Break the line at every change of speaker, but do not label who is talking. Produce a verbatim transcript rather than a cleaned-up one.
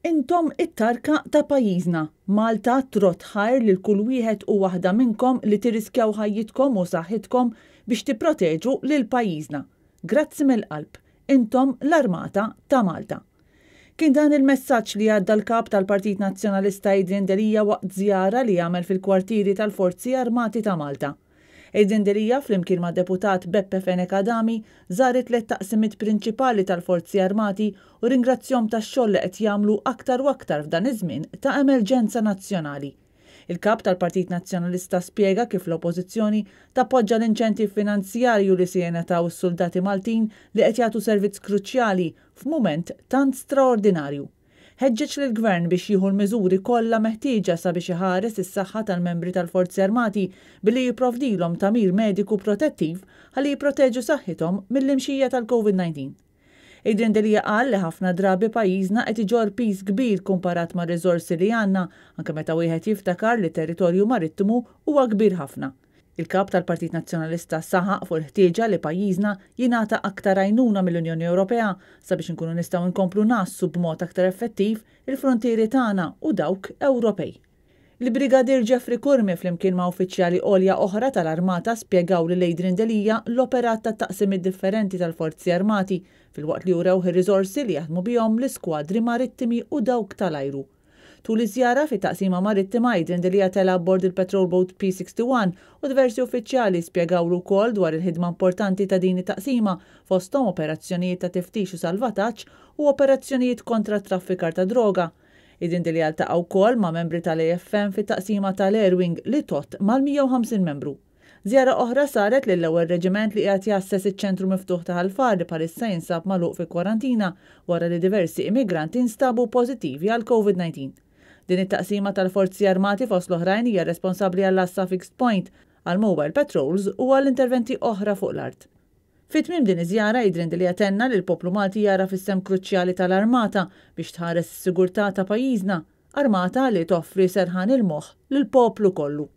Intom it-tarka ta' pajjiżna. Malta trodd ħajr lil kull wieħed u waħda minnkom li tirriskjaw ħajjitkom u saħħitkom biex tipproteġu lil pajjiżna. Grazzi mill-qalb. Intom l-Armata ta' Malta. Kien dan il-messaġġ li għadda l-kap tal-Partit Nazzjonalista Adrian Delia waqt żjara li għamel fil-kwartieri tal-Forzi Armati ta' Malta. Adrian Delia, flimkien ma' deputat Beppe Fenech Adami, żar it-tliet taqsimiet prinċipali tal-Forzi Armati u ringrazzjahom tax-xogħol li qed jagħmlu aktar u aktar f'dan iż-żmien ta' emerġenza nazzjonali. Il-kap tal-Partit Nazzjonalista spjega kif l-Oppożizzjoni tappoġġa l-inċentiv finanzjarju li se jingħataw is-soldati Maltin li qed jagħtu servizz kruċjali f'mument tant straordinarju. Ħeġġeġ lill-Gvern biex jieħu l-miżuri kollha meħtieġa sabiex iħares is-saħħa tal-membri tal-Forzi Armati billi jipprovdilhom tagħmir mediku protettiv ħalli jipproteġu saħħithom mill-imxija tal-Covid nineteen. Adrian Delia qal li ħafna drabi pajjiżna qed iġorr piż kbir kumparat ma' riżorsi li għandna, anke meta wieħed jiftakar li territorju marittimu huwa kbir ħafna. Il-kap tal-Partit Nazzjonalista saħaq fuq il-ħtieġa li pajjiżna jingħata aktar għajnuna mill-Unjoni Ewropea sabiex inkunu nistgħu nkomplu ngħassu b'mod aktar effettiv il-frontieri tagħna u dawk Ewropej. Il-Brigadier Jeffrey Curmi flimkien ma' uffiċjali għolja oħra tal-Armata spjegaw lil Adrian Delia l-operat ta' taqsimiet differenti tal-Forzi Armati filwaqt li urew ir-riżorsi li jaħdmu bihom l-iskwadri marittimi u dawk tal-ajru. Tul iż-żjara fit-taqsima marittima, Adrian Delia tela' abbord il-Patrol Boat P sixty-one u diversi uffiċjali spjegawlu wkoll dwar il-ħidma importanti ta' din it-taqsima fosthom operazzjonijiet ta' tiftix u salvataġġ u operazzjonijiet kontra traffikar ta' droga. Adrian Delia ltaqa' wkoll ma' membri tal-A F M fit-taqsima tal-Airwing li tgħodd mal-mija u ħamsin membru. Żjara oħra saret lill-ewwel reġiment li qiegħed jgħasses iċ-ċentru miftuħ ta' Ħal Far li bħalissa jinsab magħluq fi kwarantina wara li diversi immigranti nstabu pożittivi għal Covid nineteen. Din it-taqsima tal-Forzi Armati fost l-oħrajn hija responsabbli għall-għassa fixed point, għal mobile patrols u għal interventi oħra fuq l-art. Fi tmiem din iż-żjara, Adrian Delia tenna li l-poplu Malti jara fis-sem kruċjali tal-Armata biex tħares is-sigurtà ta' pajjiżna, armata li toffri serħan il-moħħ lill-poplu kollu.